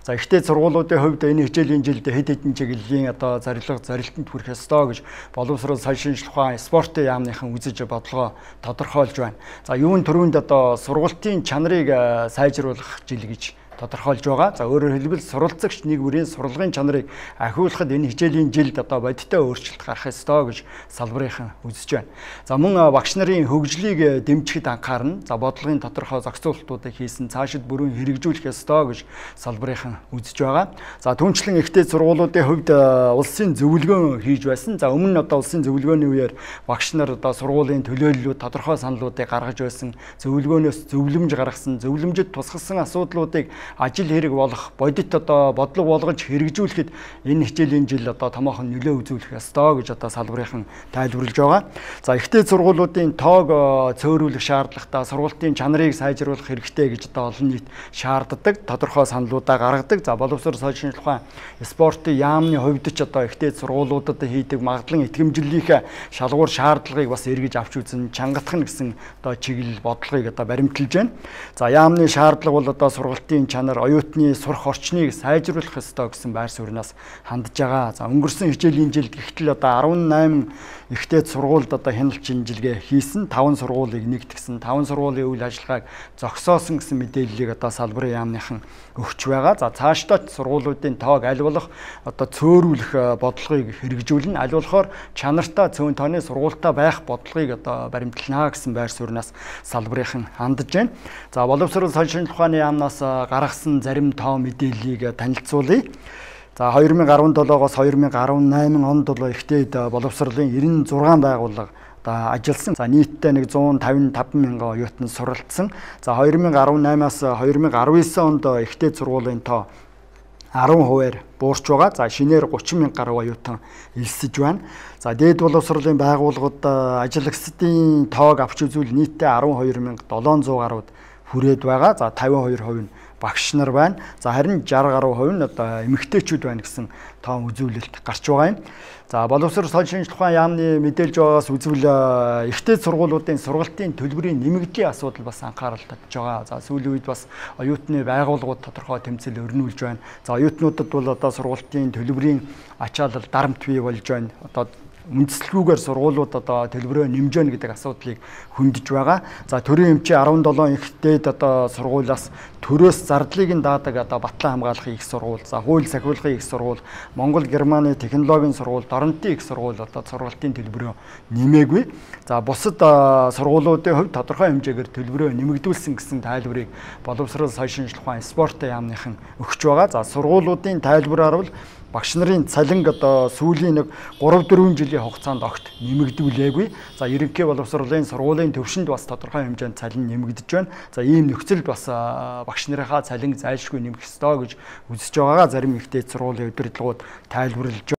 За ихтэй сургуулиудын хувьд энэ хичээлийн жилд хэд хэдэн чиглэлийн одоо зорилтонд хүрэх ёстой гэж боловсрол соёлын шинжилгээ ухаан спортын яамныхан үзэж бодлогоо тодорхойлж байна. За юун төрөнд одоо сургалтын чанарыг сайжруулах жил гэж тодорхойлж байгаа. За өөрөөр хэлбэл суралцагч нэг бүрийн сурлагын чанарыг ахиулахад энэ хичээлийн жилд одоо бодиттой өөрчлөлт гарах ёстой гэж салбарынхан үзэж байна. За мөн багш нарын хөгжлийг дэмжихэд анхаарна. За бодлогын тодорхой зохицуулалтуудыг хийсэн цаашид бүрэн хэрэгжүүлэх ёстой гэж салбарынхан үзэж байгаа. За түүнчлэн ихтэй сургуулиудын хувьд улсын зөвлөгөөн хийж байсан. За өмнө нь одоо улсын зөвлөгөөний үеэр багш нар одоо сургуулийн төлөөллүүд тодорхой саналуудыг гаргаж байсан. Зөвлөгөөнөөс зөвлөмж гаргасан, зөвлөмжөд тусгасан асуудлуудыг ажил хэрэг болох бодит одоо бодлого болгож хэрэгжүүлэхэд энэ хичээлийн жил одоо томоохон нөлөө үзүүлэх ёстой гэж одоо салбарынхан тайлбарлаж байгаа. За ихтэй сургуулиудын тоог цөөрүүлэх шаардлагатай, сургалтын чанарыг сайжруулах хэрэгтэй гэж одоо олон нийт шаарддаг, тодорхой саналуудаа гаргадаг. За боловсрол соёлын шинжилгээ ухаан спортын яамны хувьд ч одоо ихтэй сургуулиудад хийдэг магадлан итгэмжлэлийнхээ шалгуур шаардлагыг бас эргэж авч үзэн чангатах гэсэн одоо чиглэл бодлогыг одоо баримталж байна. За яамны шаардлага бол одоо сургалтын чанар, оюутны сурах орчныг сайжруулах ёстой гэсэн байр сууриас хандж байгаа. За өнгөрсөн хичээлийн жилд гэтэл одоо 18 ихтэй сургуульд одоо хяналт шинжилгээ хийсэн, 5 сургуулийг нэгтгсэн, 5 сургуулийн үйл ажиллагааг зогсоосон гэсэн мэдээллийг одоо салбарын яамныхан өгч байгаа. За цаашдаа сургуулиудын тоог аль болох одоо цөөрүүлэх бодлогыг хэрэгжүүлнэ. Аль болохоор чанартай цөөн тооны сургуультай байх бодлогыг одоо баримтлана гэсэн байр сууриас салбарынхан хандж байна. За боловсрол соёлын шинжилгээ ухааны яамнаас гаргасан зарим тоо мэдээллийг танилцуулъя. За 2017-оос 2018 онд бол ихтэй боловсролын 96 байгууллага ажилласан. За нийтдээ 155 мянган оюутан суралцсан. За 2018-аас 2019 онд ихтэй сургуулийн тоо 10%-аар буурч байгаа. За шинээр 30 мянга гаруй оюутан элсэж байна. За дээд боловсролын байгууллагууд ажиллагчдын тоог авч үзвэл нийтдээ 12,700 гаруйд хүрээд байгаа. За 52% нь багш нар байна. За харин 60 гаруй хувь нь одоо эмэгтэйчүүд байна гэсэн тоон үзүүлэлт гарч байгаа юм. За боловсрол соёлын шинжилгээ ухаан яамны мэдээлж байгаагаас үзвэл ихтэй сургуулиудын сургалтын төлбөрийн нэмэгдлийн асуудал бас анхаарал татж байгаа. За сүүлийн үед бас оюутны байгууллагууд тодорхой тэмцэл өрнүүлж байна. За оюутнуудад бол одоо сургалтын төлбөрийн ачаалал дарамт бий болж байна. Одоо үндэслэлгүйгээр сургуулиуд одоо төлбөрөө нэмжээнэ гэдэг асуудлыг хөндөж байгаа. За төрийн эмчийн 17 ихтэйд одоо сургуулиас төрөөс зардлыг нь даадаг одоо Батлан хамгаалахын их сургууль, за хууль сахиулахын их сургууль, Монгол Германы технологийн сургууль, Доронтын их сургууль одоо сургалтын төлбөрөө нэмээгүй. За бусад сургуулиудын хувьд тодорхой хэмжээгээр төлбөрөө нэмэгдүүлсэн гэсэн тайлбарыг боловсрол соёлын шинжилгээ ухаан спортын яамныхан өгч байгаа. За сургуулиудын тайлбараар бол багш нарын цалинг одоо сүүлийн 3-4 жилийн хугацаанд огт нэмэгдүүлээгүй. За ерөнхий боловсролын сургуулийн төвшөнд бас тодорхой хэмжээнд цалин нэмэгдэж байна. За ийм нөхцөлд бас багш нарынхаа цалин зайлшгүй нэмэх ёстой гэж үзэж байгаа. Зарим ихтэй сургуулийн удирдлагууд тайлбарлаж